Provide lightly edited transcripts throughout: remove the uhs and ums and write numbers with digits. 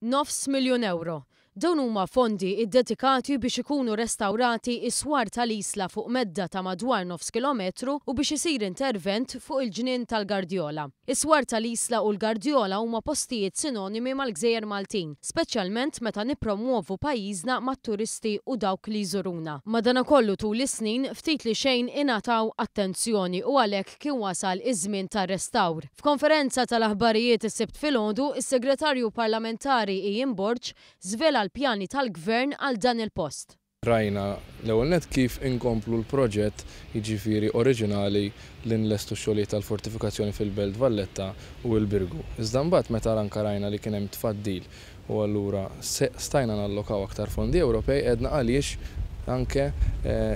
Nofs miljun ewro. Dawn huma fondi iddedikati biex ikunu restawrati s-swar tal-Isla fuq medda ta' madwar nofs kilometru u biex isir intervent fuq il-ġnien tal-Gardjola. Is-swar tal-Isla u l-Gardjola huma postijiet sinonimi mal-gżejjer Maltin, speċjalment meta nippromwovu pajjiżna mat-turisti u dawk li jżuruna. Madanakollu tul is-snin ftit li xejn ingħataw attenzjoni u għalhekk kien wasal iż-żmien tar-restawr. F'konferenza tal-aħbarijiet is-Sibt filgħodu, is-Segretarju Parlamentari Ian Borg żvela l-pjani tal-Gvern għal dan il-post. Rajna l-ewwel nett kif inkomplu l-proġett, jiġifieri oriġinali li nlestu x-xogħlijiet tal-fortifikazzjoni fil-Belt Valletta u l-Birgu. Iżda mbagħad meta anke rajna li kien hemm tfaddil u allura stajna nallokaw aktar fondi Ewropej għedna għaliex anke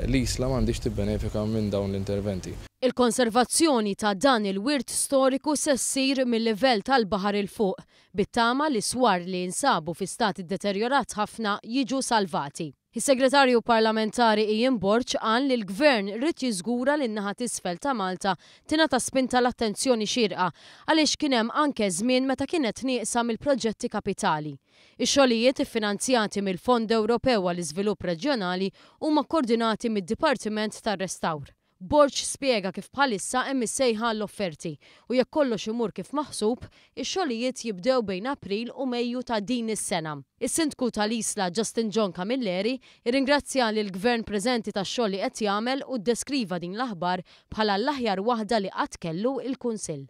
l-Isla m'għandhiex tibbenefika minn dawn l-interventi. Il-konservazzjoni ta' dan il-wirt storiku se ssir mil-livell tal-baħar 'il fuq, bit-tama li swar li jinsabu fi stat iddeterjorat ħafna jiġu salvati. Is-Segretarju Parlamentari Ian Borg qal li l-Gvern ried jiżgura li n-naħa t'isfel ta' Malta tingħata spinta l-attenzjoni xierqa għaliex kien hemm anke żmien meta kienet nieqsa mill-proġetti kapitali. Ix-xogħlijiet iffinanzjati mill-Fond Ewropew għall-Iżvilupp Reġjonali huma kkordinati mid-Dipartiment tar-Restawr. Borg spjega kif bħalissa hemm is-sejħa għall-offerti u jekk kollox imur kif maħsub, ix-xogħlijiet jibdew bejn April u Mejju ta' din is-sena. Is-Sindku tal-Isla Justin John Camilleri rringrazzja lill-Gvern preżenti tax-xogħol li qed jagħmel u ddeskriva din l-aħbar bħala l-aħjar waħda li qatt kellu l-Kunsill.